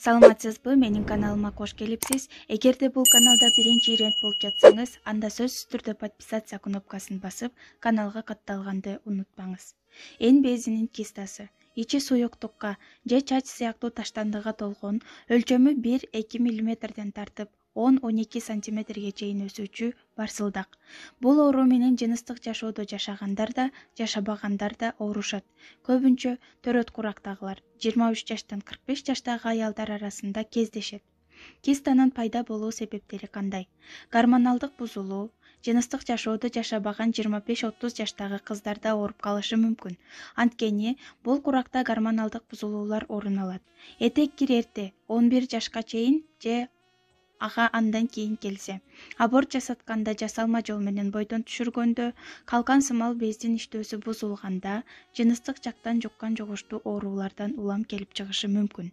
Саламатсызбы, менин каналыма кош келипсиз. Эгерде бул каналда биринчи ирет болуп жатсаңыз, анда сөзсүз түрдө подписация кнопкасын басып, каналга катталганды унутпаңыз. Эн безинин кистасы. Ичи суюктукка же чач сыяктуу таштандыга толгон, өлчөмү 1-2 мм тартып 10-12 сантиметрге чейин өсүүчү барсылдак. Бул оору менен жыныстык жашоодо жашагандар да, жашабагандар да оорушат. Көбүнчө төрөт курактагылар 23 жаштан 45 жаштагы аялдар арасында кездешет. Кистанын пайда болуу себептери кандай? Гормоналдык бузулуу, жыныстык жашоодо жашабаган 25-30 жаштагы кыздарда ооруп калышы мүмкүн. Анткени бул куракта гормоналдык бузулуулар орун алат. Этек кирерде 11 жашка чейин же ага андан кийин келсе, аборт жасатканда, жасалма жол менен бойдон түшүргөндө, калкан сымал бездин иштөөсү бузулганда, жыныстык жактан жуккан жугуштуу оорулардан улам келип чыгышы мүмкүн.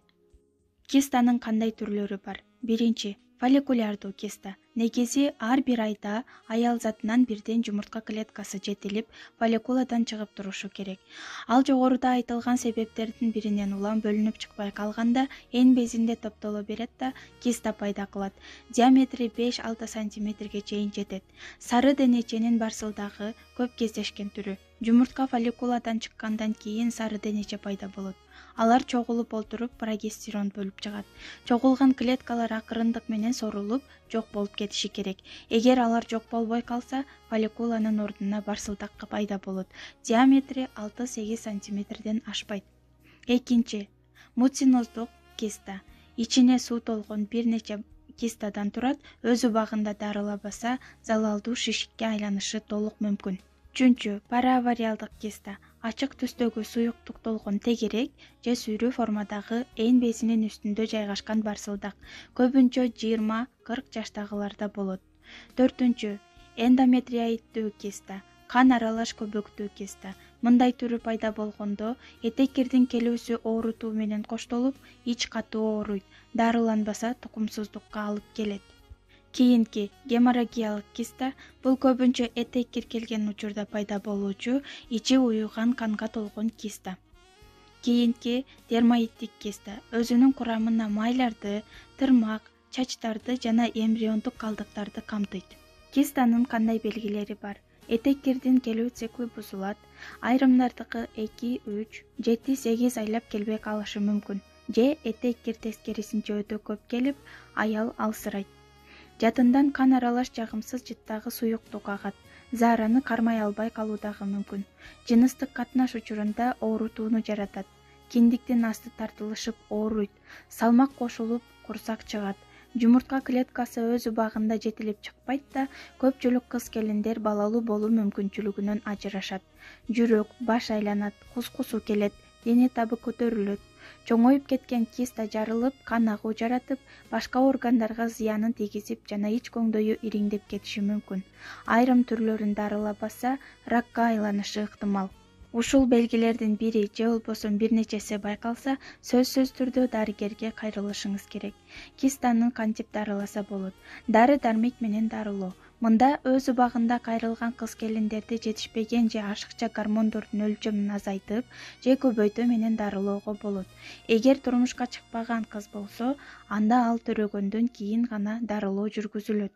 Кистанын кандай түрлөрү бар? Биринчи, фолликулярдуу киста. Негизи ар бир айда аял затынан бирден жумуртка клеткасы жетилип, фолликуладан чыгып турушу керек. Ал жогоруда айтылган себептердин биринен улам бөлүнүп чыкпай калганда, эн безинде топтоло берет да киста пайда кылат. Диаметри 5-6 сантиметрге чейин жетет. Сары денеченин барсылдагы көп кездешкен түрү. Жумуртка фолликуладан чыккандан кийин сары денече пайда болот. Алар чогулуп олтуруп прогестерон бөлүп чыгат. Чогулган клеткалар акырындык менен сорулуп, жок болуп кетиши керек. Эгер алар жок болбой калса, фолликуланын ордуна барсылдак пайда болот. Диаметри 6-8 сантиметрден ашпайт. Экинчи, муциноздук киста. Ичине суу толгон бир нече кистадан турат, өз убагында дарылабаса, залалдуу шишикке айланышы толук мүмкүн. Үчүнчү, параавариалдык киста. Ачык түстөгү суюктук толгон тегерек же сүйрүү формадагы эн безинин үстүндө жайгашкан барсылдак. Көбүнчө 20-40 жаштагыларда болот. Төртүнчү, эндометриоиддүү киста. Кан аралаш көбөктүү киста. Мындай түрү пайда болгондо, этек кирдин келүүсү оорутуу менен коштолуп, ич катуу ооруйт. Дарыланбаса, тукумсуздукка алып келет. Кийинки, геморрагиялык киста. Бул көбүнчө этек кир келген учурда пайда болуучу, ичи уюган канга толгон киста. Кийинки, дермоиддик киста. Өзүнүн курамына майларды, тырмак, чачтарды жана эмбриондук калдыктарды камтыйт. Кистанын кандай белгилери бар? Этек кирдин келүү цикли бузулат. Айрымдардыкы 2-3, 7-8 айлап келбей калышы мүмкүн. Же этек кир тескерисинче өтө көп келип, аял алсырайт. Жадындан кан аралаш жагымсыз жыттагы суюктук агат. Заараны кармай албай калуу дагы мүмкүн. Жыныстык катнаш учурунда оорутууну жаратат. Киндиктин асты тартылышып ооруйт. Салмак кошулуп, курсак чыгат. Жумуртка клеткасы өз убагында жетилип чыкпайт да, көпчүлүк кыз-келиндер балалуу болуу мүмкүнчүлүгүнөн ажырашат. Жүрөк, баш айланат, кускусу келет, дене табы көтөрүлөт. Чоңоюп кеткен киста жарылып, кан агуу жаратып, башка органдарга зыянын тийгизип жана ич көңдөйү ириңдеп кетиши мүмкүн. Айрым түрлөрүн дарылабаса, ракка айланышы ыктымал. Ушул белгилердин бири же болбосо бир нечеси байкалса, сөзсүз түрдө дарыгерге кайрылышыңыз керек. Кистанын кантип дарыласа болот? Дары-дармек менен дарылоо. Мында өз убагында кайрылган кыз-келиндерди жетишпеген же ашыкча гормондордун өлчөмүн азайтып, же көбөйтүү менен дарылоого болот. Эгер турмушка чыкпаган кыз болсо, анда ал төрөгөндөн кийин гана дарылоо жүргүзүлөт.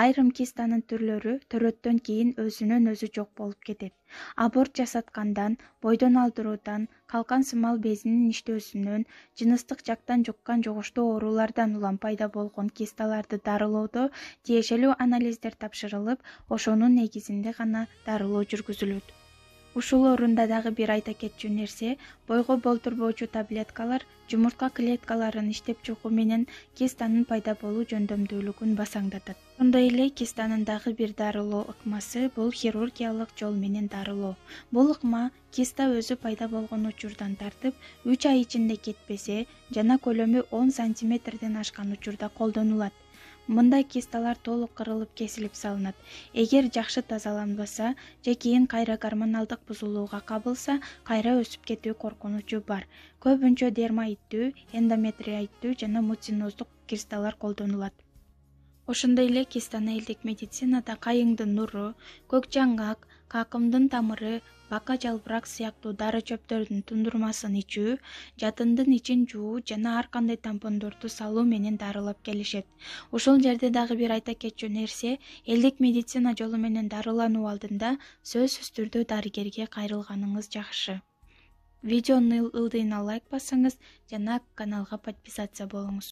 Айрым кистанын түрлөрү төрөттөн кийин өзүнөн өзү жок болуп кетет. Аборт жасаткандан, бойдон алдыруудан, калкан сымал безинин иштөөсүнөн, жыныстык жактан жуккан жугуштуу оорулардан улам пайда болгон кисталарды дарылоодо тиешелүү анализдер тапшырылып, ошонун негизинде гана дарылоо жүргүзүлөт. Ушул орунда дагы бир айта кетчү нерсе, бойго болтурбоочу таблеткалар жумуртка клеткаларын иштеп чыгуу менен кистанын пайда болуу жөндөмдүүлүгүн басаңдатат. Ошондой эле кистанын дагы бир дарылоо ыкмасы бул хирургиялык жол менен дарылоо. Бул ыкма киста өзү пайда болгон учурдан тартып 3 ай ичинде кетпесе жана көлөмү 10 сантиметрден ашкан учурда колдонулат. Мындай кисталар толук кырылып кесилип салынат. Эгер жакшы тазаланбаса же кийин кайра гормоналдык бузулууга кабылса, кайра өсүп кетүү коркунучу бар. Көбүнчө дермоиддүү, эндометриоиддүү жана муциноздук кисталар колдонулат. Ошондой эле кистаны элдик медицинада кайыңдын нуру, көк жаңгак, какымдын тамыры, бака жалбырак сыяктуу дары чөптөрдүн тундурмасын ичүү, жатындын ичин жуу жана ар кандай тампондорду салуу менен дарылап келишет. Ушул жерде дагы бир айта кетчү нерсе, элдик медицина жолу менен дарылануу алдында сөзсүз түрдө дарыгерге кайрылганыңыз жакшы. Видеону ылдыйына лайк басыңыз жана каналга подписация болуңуз.